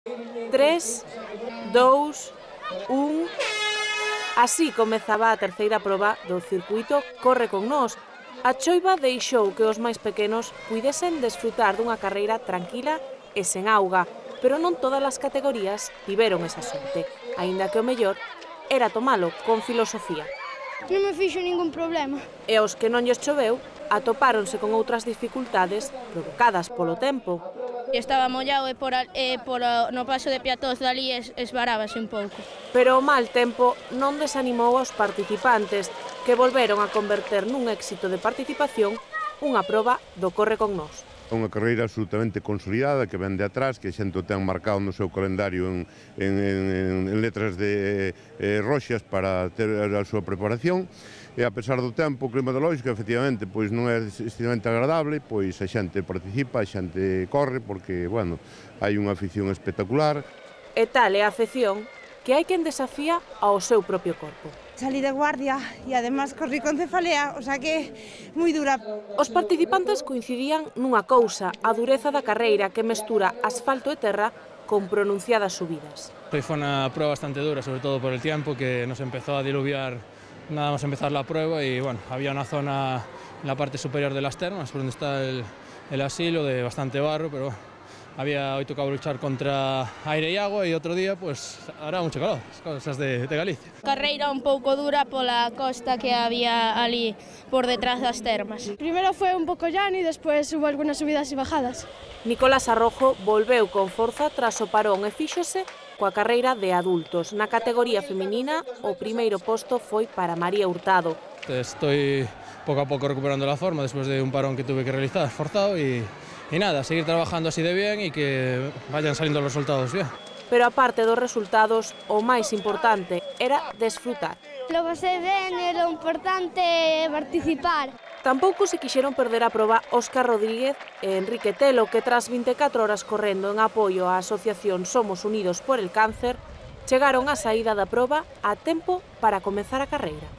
3, 2, 1... Así comezaba a terceira proba do circuito Corre con Nós. A choiva deixou que os máis pequenos puidesen desfrutar dunha carreira tranquila e sen auga, pero non todas as categorías tiveron esa sorte, aínda que o mellor era tomalo con filosofía. Non me fixo ningún problema. E os que non lles choveu atopáronse con outras dificultades provocadas polo tempo. Estaba mollado e no paso de peatóns dali esvarábase un pouco. Pero o mal tempo non desanimou aos participantes, que volveron a converter nun éxito de participación unha proba do Corre con Nós. É unha carreira absolutamente consolidada que ven de atrás, que a xente o ten marcado no seu calendario en letras de roxas para ter a súa preparación. E a pesar do tempo climatolóxico, efectivamente, pois non é extremamente agradable, pois a xente participa, a xente corre, porque, bueno, hai unha afición espectacular. E tal é a afección que hai quen desafía ao seu propio corpo. Salí de guardia e además corrí con cefalea, o sea que moi dura. Os participantes coincidían nunha cousa, a dureza da carreira que mestura asfalto e terra con pronunciadas subidas. Foi unha prueba bastante dura, sobre todo por el tiempo, que nos empezó a diluviar nada más empezar la prueba y bueno, había una zona en la parte superior de las termas, por donde está el asilo, de bastante barro, pero hoy tocaba luchar contra aire y agua y otro día pues hará mucho calor, cosas de Galicia. Carreira un pouco dura pola costa que había ali por detrás das termas. Primero fue un pouco llano e despois hubo algunas subidas e bajadas. Nicolás Arrojo volveu con forza tras o parón e fíxose coa carreira de adultos. Na categoría feminina, o primeiro posto foi para María Hurtado. Estoy poco a poco recuperando la forma después de un parón que tuve que realizar forzado y nada, seguir trabajando así de bien y que vayan saliendo los resultados bien. Pero aparte dos resultados, o máis importante era desfrutar. Lo pasei ben e lo importante é participar. Tampouco se quixeron perder a proba Óscar Rodríguez e Enrique Telo, que tras 24 horas correndo en apoio á asociación Somos Unidos por el Cáncer, chegaron á saída da proba a tempo para comezar a carreira.